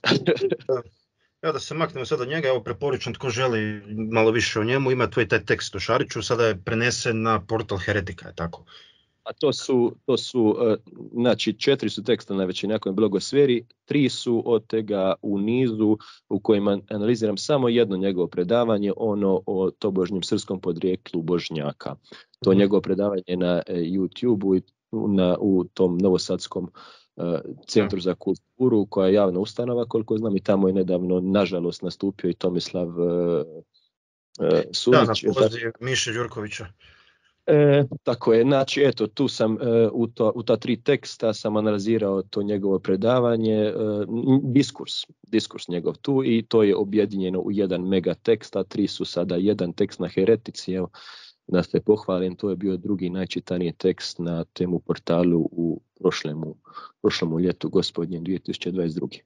Evo da se maknemo sad od njega, evo preporučam tko želi malo više o njemu, ima tvoj taj tekst o Šariću, sada je prenesen na portal Heretika, je tako? A to su znači 4 su teksta na većinjakoj blogosferi, 3 su od tega u nizu u kojima analiziram samo jedno njegovo predavanje, ono o tobožnjem srpskom podrijeklu Božnjaka. To njegovo predavanje na YouTube-u u tom novosadskom Centru za kulturu, koja je javna ustanova, koliko znam, i tamo je nedavno, nažalost, nastupio i Tomislav Sunić. Da, na poziv Miše Đurkovića. Tako je, znači eto, tu sam u ta 3 teksta sam analizirao to njegovo predavanje, diskurs njegov tu, i to je objedinjeno u jedan mega tekst, a 3 su sada jedan tekst na Heretici. Evo, da se pohvalim, to je bio drugi najčitaniji tekst na temu portalu u prošlom ljetu gospodnjem 2022.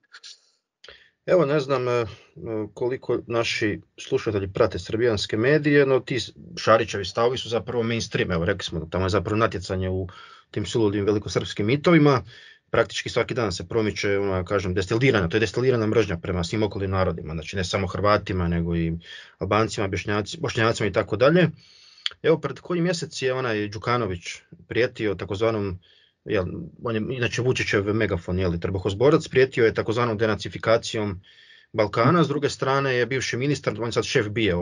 Evo, ne znam koliko naši slušatelji prate srbijanske medije, no ti Šarićevi stavovi su zapravo mainstream. Evo, rekli smo da tamo je zapravo natjecanje u tim suludim velikosrpskim mitovima. Praktički svaki dan se promiče, to je destilirana mržnja prema svim okolnim narodima, znači ne samo Hrvatima, nego i Albancima, Bošnjacima i tako dalje. Evo, pred koji mjesec je onaj Đukanović prijetio takozvanom, on je inače Vučićev megafon, trbuhozborac, prijetio je takozvanom denacifikacijom Balkana. S druge strane je bivši ministar, on je sad šef BIA,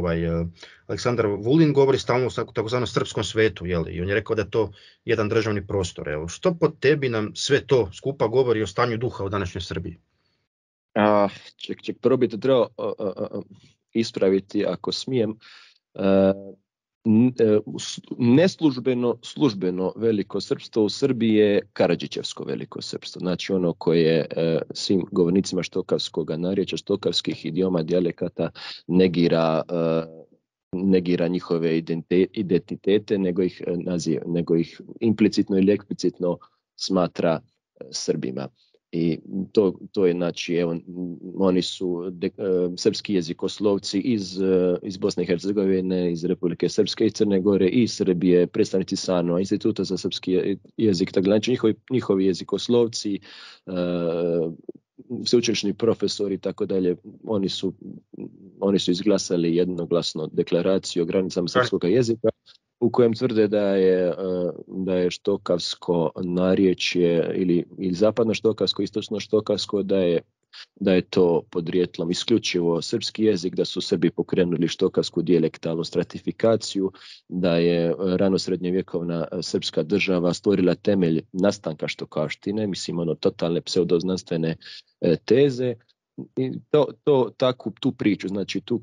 Aleksandar Vulin, govori stalno o takozvanom srpskom svetu, i on je rekao da je to jedan državni prostor. Evo, što po tebi nam sve to skupa govori o stanju duha u današnjoj Srbiji? Prvo bi to trebao ispraviti, ako smijem. Neslužbeno, službeno velikosrpstvo u Srbiji je Karadžićevsko velikosrpstvo, znači ono koje svim govornicima štokavskog narječja, štokavskih idioma, dijalekata negira njihove identitete, nego ih implicitno ili eksplicitno smatra Srbima. I to je, znači, evo, oni su srpski jezikoslovci iz Bosne i Hercegovine, iz Republike Srpske i Crne Gore i Srbije, predstavnici SANO, Instituta za srpski jezik, tako znači njihovi jezikoslovci, sveučilišni profesori i tako dalje, oni su izglasali jednoglasno deklaraciju o granicama srpskog jezika, u kojem tvrde da je štokavsko narječje ili zapadno štokavsko, istočno štokavsko, da je to podrijetlom isključivo srpski jezik, da su Srbi pokrenuli štokavsku dijalektalnu stratifikaciju, da je ranosrednjovjekovna srpska država stvorila temelj nastanka štokavštine, mislim totalne pseudoznanstvene teze. I tu priču, znači tu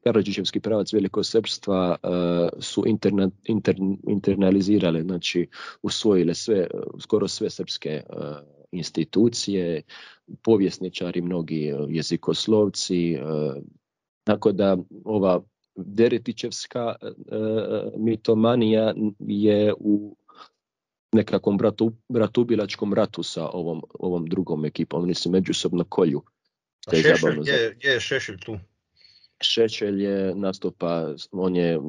Karadžićevski pravac velikosrpstva su internalizirale, znači usvojile skoro sve srpske institucije, povjesničari, mnogi jezikoslovci, tako da ova Deretićevska mitomanija je u nekakvom bratubilačkom ratu sa ovom drugom ekipom. Oni se međusobno kolju. Gdje je Šešelj tu? Šešelj je nastupa, on je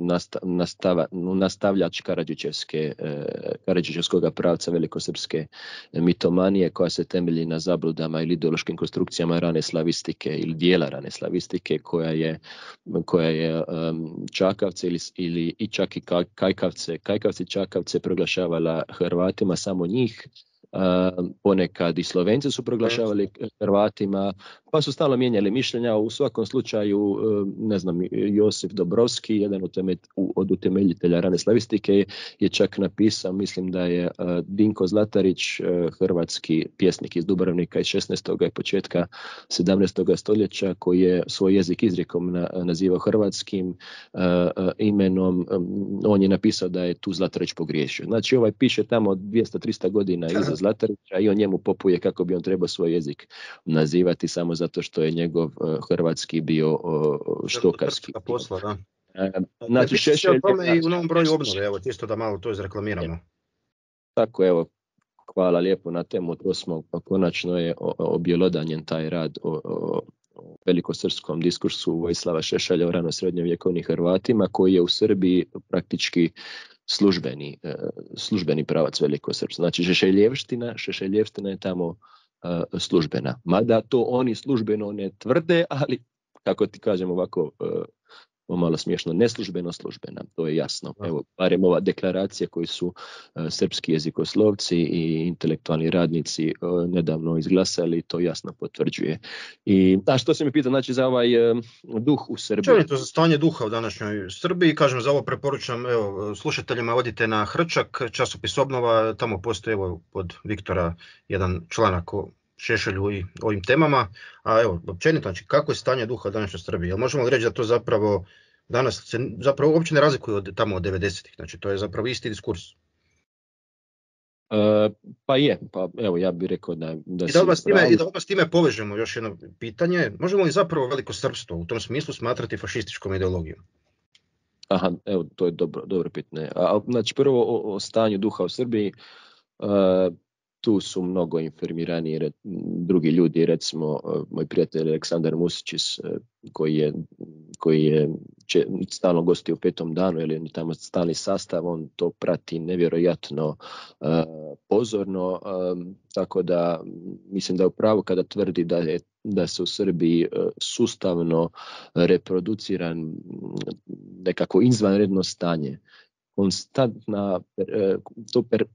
nastavljač Karadžićevskog pravca velikosrpske mitomanije koja se temelji na zabludama ili ideološkim konstrukcijama rane slavistike ili dijela rane slavistike koja je Čakavce ili i čak i Kajkavci Čakavce proglašavala Hrvatima, samo njih. Ponekad i Slovenci su proglašavali Hrvatima, pa su stalno mijenjali mišljenja. U svakom slučaju, ne znam, Josip Dobrovski, jedan od utemeljitelja rane slavistike, je čak napisao, mislim da je Dinko Zlatarić, hrvatski pjesnik iz Dubrovnika iz 16. i početka 17. stoljeća, koji je svoj jezik izrijekom nazivao hrvatskim imenom, on je napisao da je tu Zlatarić pogriješio. Znači, ovaj piše tamo 200-300 godina iza Zlatarića i on njemu popuje kako bi on trebao svoj jezik nazivati, samo zato što je njegov hrvatski bio štokarski. Posla, da. Znači, Šešelj o tome i u novom broju obnove, evo, čisto da malo to izreklamiramo. Tako, evo, hvala lijepo na temu, to smo, konačno je objelodanjen taj rad o velikosrpskom diskursu Vojislava Šešelja o rano srednjovjekovnim Hrvatima, koji je u Srbiji praktički službeni pravac velikosrpstva. Znači, Šešeljevština je tamo službena. Mada to oni službeno ne tvrde, ali, kako ti kažem ovako, malo smiješno, neslužbeno službena, to je jasno. Evo, barem ova deklaracija koju su srpski jezikoslovci i intelektualni radnici nedavno izglasali, to jasno potvrđuje. A što se mi pita, znači, za ovaj duh u Srbiji? Čovjeto za stanje duha u današnjoj Srbiji, kažem, za ovo preporučam, evo, slušateljima odite na Hrčak, časopis Obnova, tamo postoji, evo, pod Viktora jedan članak o Šešelju i ovim temama, a evo, općenito, znači, kako je stanje duha u današnjoj Srbiji? Jel možemo li reći da to zapravo danas se zapravo uopće ne razlikuje od tamo od 90-ih, znači to je zapravo isti diskurs? Pa evo, ja bih rekao da I da s time povežemo još jedno pitanje, možemo li zapravo velikosrpstvo u tom smislu smatrati fašističkom ideologijom? Aha, evo, to je dobro pitanje. Znači, prvo o stanju duha u Srbiji, tu su mnogo informirani drugi ljudi, recimo moj prijatelj Aleksandar Musičić, koji je stalno gosti u Petom danu, ili tamo stalni sastav, on to prati nevjerojatno pozorno, tako da mislim da je u pravu kada tvrdi da se u Srbiji sustavno reproduciran nekako izvanredno stanje.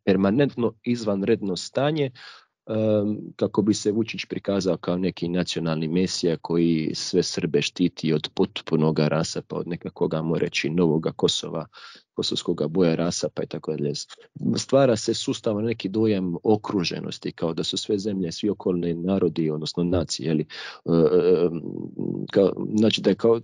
Permanentno izvanredno stanje, kako bi se Vučić prikazao kao neki nacionalni mesija koji sve Srbe štiti od potpunog rasapa, od nekakvog, ajmo reći, novoga Kosova, kosovskog boja rasapa i tako dalje. Stvara se sustavno neki dojam okruženosti, kao da su sve zemlje, svi okolni narodi, odnosno nacije, znači da je kao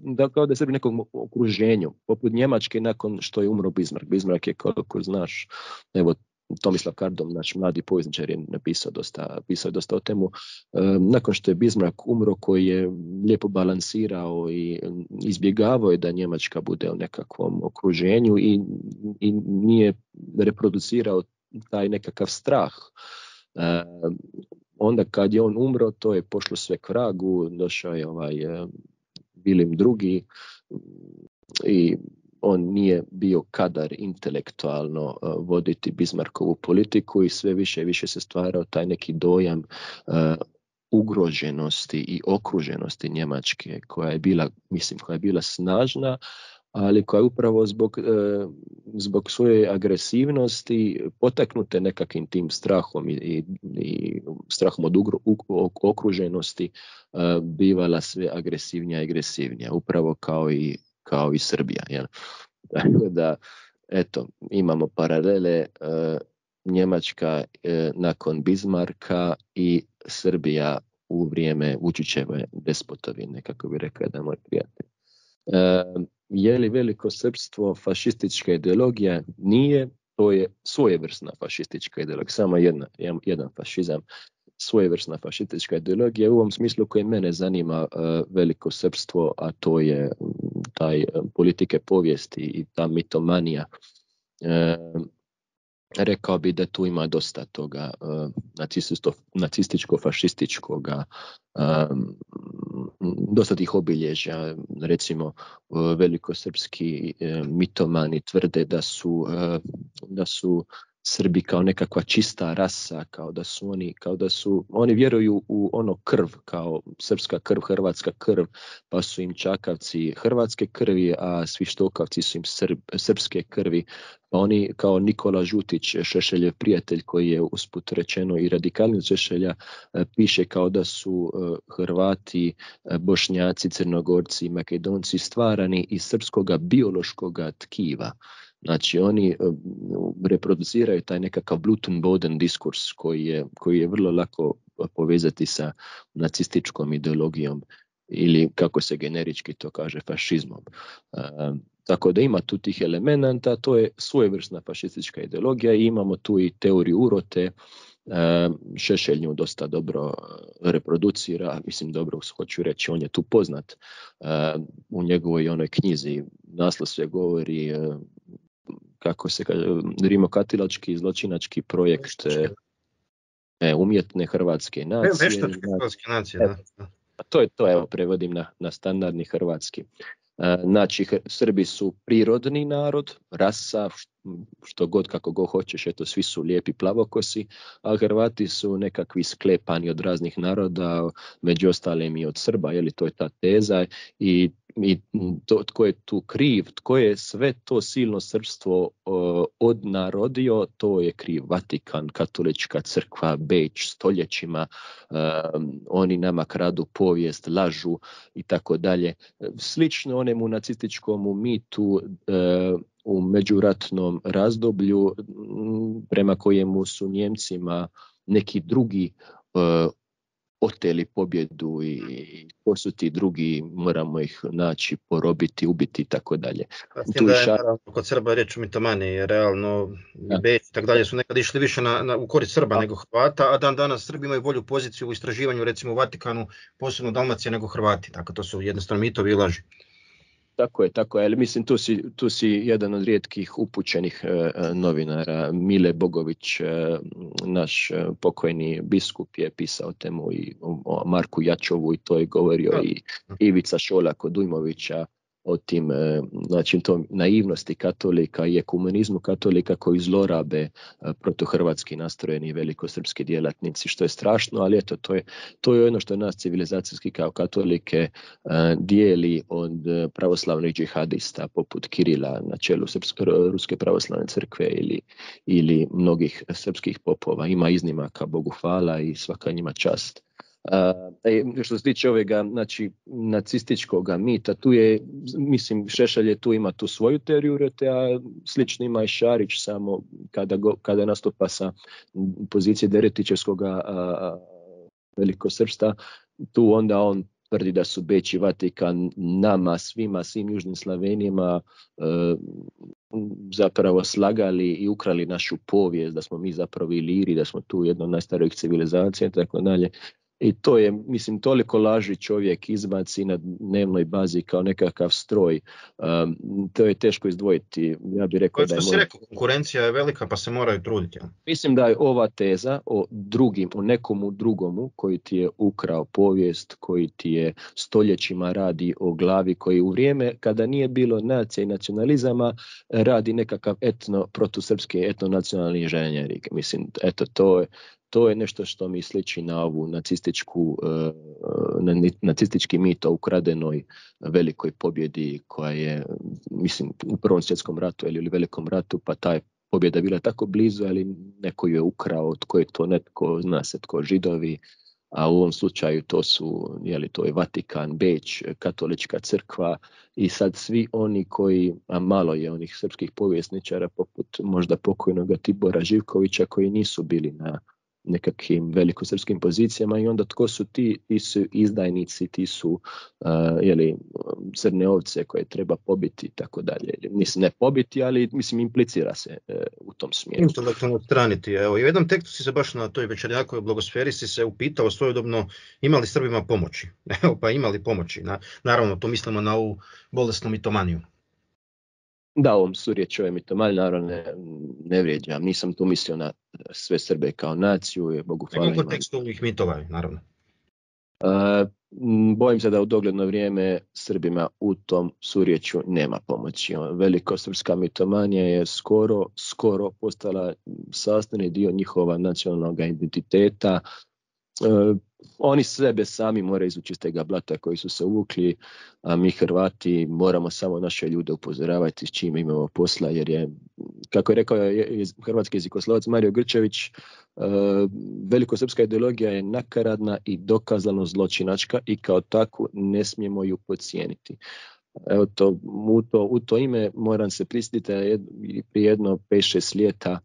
da je Srbi nekom okruženju, poput Njemačke nakon što je umro Bismarck. Bismarck je, koliko znaš, evo, Tomislav Kardom, naš mladi povjesničar, je napisao dosta o temu. Nakon što je Bismarck umro, koji je lijepo balansirao i izbjegavao je da Njemačka bude u nekakvom okruženju i nije reproducirao taj nekakav strah. Onda kad je on umro, to je pošlo sve k vragu, došao je Vilim II i on nije bio kadar intelektualno voditi Bismarckovu politiku i sve više i više se stvarao taj neki dojam ugroženosti i okruženosti Njemačke, koja je bila snažna, ali koja je upravo zbog svoje agresivnosti potaknute nekakvim tim strahom i strahom od okruženosti bivala sve agresivnija, upravo kao i Srbija. Jel? Tako da, eto, imamo paralele, Njemačka nakon Bismarcka i Srbija u vrijeme Vučićeve despotovine, kako bi rekao da moj prijatelj. Je li velikosrpstvo fašistička ideologija? Nije, to je svojevrsna fašistička ideologija, samo jedan fašizam. svojevrsna fašistička ideologija u ovom smislu koji mene zanima veliko srpstvo, a to je taj politike povijesti i ta mitomanija. Rekao bi da tu ima dosta toga nacističko-fašističkoga, dosta tih obilježja. Recimo, velikosrpski mitomani tvrde da su Srbi kao nekakva čista rasa, kao da su oni vjeruju u ono krv, kao srpska krv, hrvatska krv, pa su im Čakavci hrvatske krvi, a svi Štokavci su im srpske krvi. Pa oni kao Nikola Žutić, Šešeljev prijatelj, koji je usput rečeno i radikalni od Šešelja, piše kao da su Hrvati, Bošnjaci, Crnogorci i Makedonci stvarani iz srpskoga biološkoga tkiva. Znači oni reproduciraju taj nekakav Blutenboden diskurs koji je vrlo lako povezati sa nacističkom ideologijom ili kako se generički to kaže fašizmom. Tako da ima tu tih elemenata, to je svojevrsna fašistička ideologija i imamo tu i teoriju urote. Šešelj nju dosta dobro reproducira, mislim dobro hoću reći, on je tu poznat. U njegovoj onoj knjizi naslov se govori kako se kaže, rimokatilački zločinački projekt umjetne hrvatske nacije. Veštačke hrvatske nacije, da. To evo prevodim na standardni hrvatski. Znači, Srbi su prirodni narod, rasa, što god kako god hoćeš, eto svi su lijepi plavokosi, a Hrvati su nekakvi sklepani od raznih naroda, među ostalim i od Srba, je li to je ta teza i to, tko je tu kriv, tko je sve to silno srpstvo odnarodio, to je kriv Vatikan, katolička crkva, Beč, stoljećima, oni nama kradu povijest, lažu i tako dalje. Slično onemu nacističkom mitu u međuratnom razdoblju prema kojemu su Njemcima neki drugi oteli pobjedu i ko su ti drugi, moramo ih naći, porobiti, ubiti i tako dalje. Tu da je naravno kod Srba reč o mitomani, realno Beč i tako dalje su nekad išli više u korist Srba nego Hrvata, a dan danas Srbi imaju bolju poziciju u istraživanju, recimo u Vatikanu, posebno u Dalmaciji, nego Hrvati, tako to su jednostavno mitovi i laži. Tako je, ali mislim tu si jedan od rijetkih upućenih novinara. Mile Bogović, naš pokojni biskup, je pisao temu i o Marku Jačovu i to je govorio i Ivica Šolak od Ujmovića o tim, znači tom naivnosti katolika i ekumenizmu katolika koji zlorabe protuhrvatski nastrojeni velikosrpski djelatnici, što je strašno, ali eto, to je ono što nas civilizacijski kao katolike dijeli od pravoslavnih džihadista poput Kirila na čelu Ruske pravoslavne crkve ili mnogih srpskih popova. Ima iznimaka, Bogu hvala i svaka njima čast. Što se tiče ovega, znači, nacističkog mita, tu je, mislim, Šešelj tu ima tu svoju teoriju urote, a slično ima i Šarić, samo kada nastupa sa pozicije Deretićevskog velikosrpstva, tu onda on tvrdi da su Beč i Vatikan nama, svim južnim Slavenima zapravo slagali i ukrali našu povijest, da smo mi zapravo Iliri, da smo tu jedna od najstarijih civilizacija i tako dalje. I to je, mislim, toliko laži čovjek izbaci na dnevnoj bazi kao nekakav stroj. To je teško izdvojiti. Ja bih rekao da je... Konkurencija je velika pa se moraju truditi. Mislim da je ova teza o nekomu drugomu koji ti je ukrao povijest, koji ti je stoljećima radi o glavi, koji u vrijeme kada nije bilo nacija i nacionalizama radi nekakav protusrpski etnonacionalni inženjering. Mislim, eto, to je nešto što mi sliči na ovu nacistički mit o ukradenoj velikoj pobjedi koja je, mislim, u Prvom svjetskom ratu ili Velikom ratu, pa ta je pobjeda bila tako blizu, ali neko ju je ukrao, tko je to, netko zna se tko, Židovi, a u ovom slučaju to je Vatikan, Beč, katolička crkva i sad svi oni koji, a malo je onih srpskih povjesničara poput možda pokojnog Tibora Živkovića koji nisu bili na nekakvim velikosrpskim pozicijama i onda tko su ti su izdajnici, ti su crne ovce koje treba pobiti i tako dalje. Mislim, ne pobiti, ali mislim implicira se u tom smjeru. Intelektualno odstraniti. Evo, i u jednom tekstu si se baš na toj Večernjakovoj blagosferi si se upitao svojedobno imali Srbima pomoći. Evo, pa imali pomoći. Naravno, to mislimo na ovu bolesnu mitomaniju. Da, ovom su riječ ove mitomanije, naravno ne vrijeđam. Nisam tu mislio na sve Srbe kao naciju. Je, Bogu hvala. Nego kontekstu ovih mitova, naravno. Bojim se da u dogledno vrijeme Srbima u tom surječju nema pomoći. Velikosrpska mitomanija je skoro postala sastavni dio njihova nacionalnog identiteta. Oni sebe sami moraju izući iz tega blata koji su se uvukli, a mi Hrvati moramo samo naše ljude upozoravati s čime imamo posla, jer je, kako je rekao hrvatski jezikoslovac Mario Grčević, velikosrpska ideologija je nakaradna i dokazano zločinačka i kao takvu ne smijemo ju podcijeniti. Evo u to ime moram se prisjetiti prije jedno 5-6 ljeta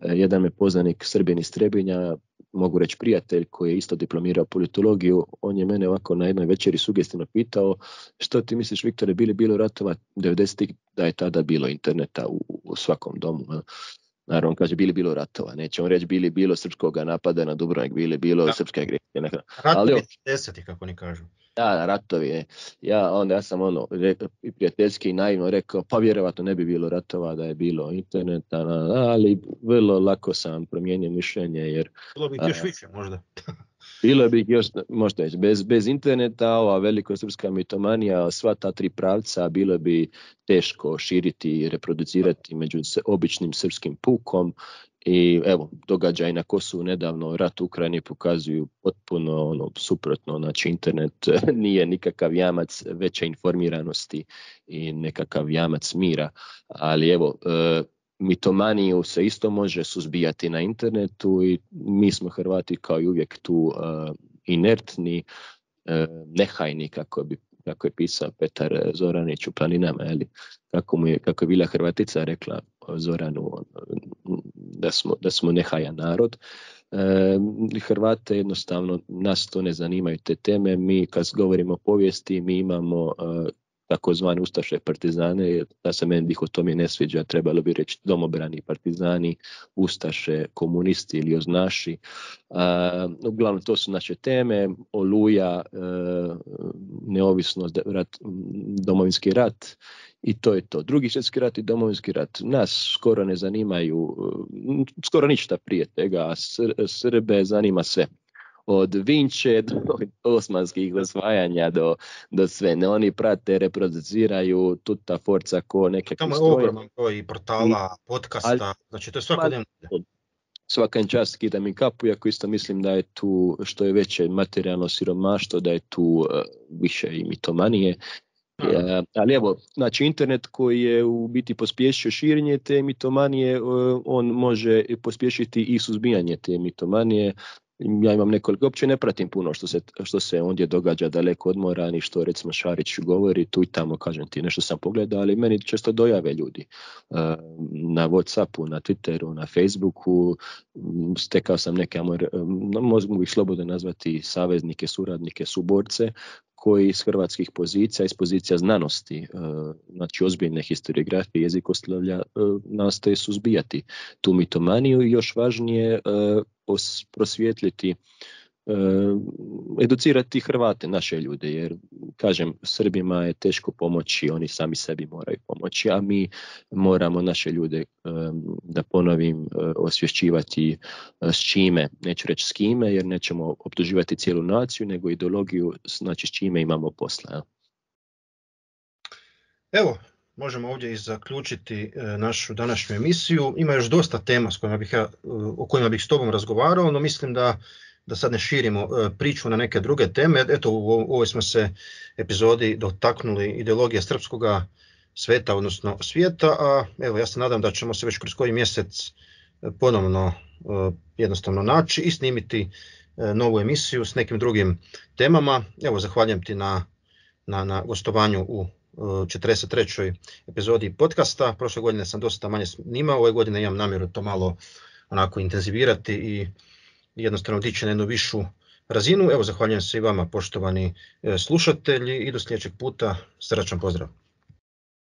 jedan me poznanik Srbin iz Trebinja, mogu reći prijatelj koji je isto diplomirao politologiju, on je mene ovako na jednoj večeri sugestivno pitao što ti misliš, Viktore, bilo ratova 90-ih, da je tada bilo interneta u svakom domu. Naravno, kaže, bilo ratova, nećemo reći bilo srpskog napada na Dubrovnik, bilo srpske agresije. Ratovi 10-ih, kako oni kažu. Da, ratovi. Ja sam prijateljski i naivno rekao, pa vjerovatno ne bi bilo ratova da je bilo interneta, ali vrlo lako sam promijenio mišljenje. Jer bilo bi još više možda. Bilo bi još, možda reći, bez interneta, ova velikosrpska mitomanija, sva ta tri pravca, bilo bi teško širiti i reproducirati među običnim srpskim pukom. I evo, događaj na Kosovu nedavno, rat u Ukrajini pokazuju potpuno suprotno, znači internet nije nikakav jamac veće informiranosti i nekakav jamac mira, ali evo, mitomaniju se isto može suzbijati na internetu i mi smo Hrvati kao i uvijek tu inertni, nehajni, kako je pisao Petar Zoranić u Planinama, kako je bila Hrvatica rekla Zoranu, da smo nehajan narod. Hrvate jednostavno, nas to ne zanimaju te teme. Mi kad govorimo o povijesti, mi imamo takozvani ustaše partizane, da se meni dihotomije ne sviđa, trebalo bi reći domobrani partizani, ustaše, komunisti ili oznaši. Uglavnom to su naše teme, Oluja, neovisnost, Domovinski rat i to je to. Drugi svjetski rat i Domovinski rat nas skoro ne zanimaju, skoro ništa prije tega, a Srbe zanima sve. Od Vinče do osmanskih osvajanja do sve. Ne, oni prate, reproduciraju tuta forca ko neke stroje. Tamo je ogroman broj portala, podcasta, znači to je svakodnevno. Svakan čast skidam i kapu, iako isto mislim da je tu, što je veće materijalno siromaštvo, da je tu više i mitomanije. Ali evo, znači internet koji je u biti pospješio širenje te mitomanije, on može pospješiti i suzbijanje te mitomanije. Ja imam nekoliko, uopće ne pratim puno što se ondje događa daleko od mora, ni što recimo Šarić govori, tu i tamo, kažem ti, nešto sam pogledao, ali meni često dojave ljudi na Whatsappu, na Twitteru, na Facebooku, stekao sam neke, mogu ih slobodno nazvati saveznike, suradnike, suborce, koji iz hrvatskih pozicija, iz pozicija znanosti, znači ozbiljne historiografije, jezikoslovlja, nastoje suzbijati tu mitomaniju i još važnije prosvijetliti, educirati Hrvate, naše ljude, jer kažem, Srbima je teško pomoći, oni sami sebi moraju pomoći, a mi moramo naše ljude, da ponovim, osvješćivati s čime, neću reći s kime, jer nećemo optuživati cijelu naciju, nego ideologiju, znači s čime imamo posla. Evo, možemo ovdje i zaključiti našu današnju emisiju. Ima još dosta tema o kojima bih s tobom razgovarao, no mislim da sad ne širimo priču na neke druge teme. Eto, u ovoj smo se epizodi dotaknuli ideologije srpskoga sveta, odnosno svijeta, a evo, ja se nadam da ćemo se već kroz koji mjesec ponovno jednostavno naći i snimiti novu emisiju s nekim drugim temama. Evo, zahvaljujem ti na gostovanju u 43. epizodi podcasta. Prošle godine sam dosta manje snimao, ove godine imam namjeru to malo onako intenzivirati i jednostavno dići na jednu višu razinu. Evo, zahvaljujem se i vama, poštovani slušatelji, i do sljedećeg puta. Srdačan pozdrav.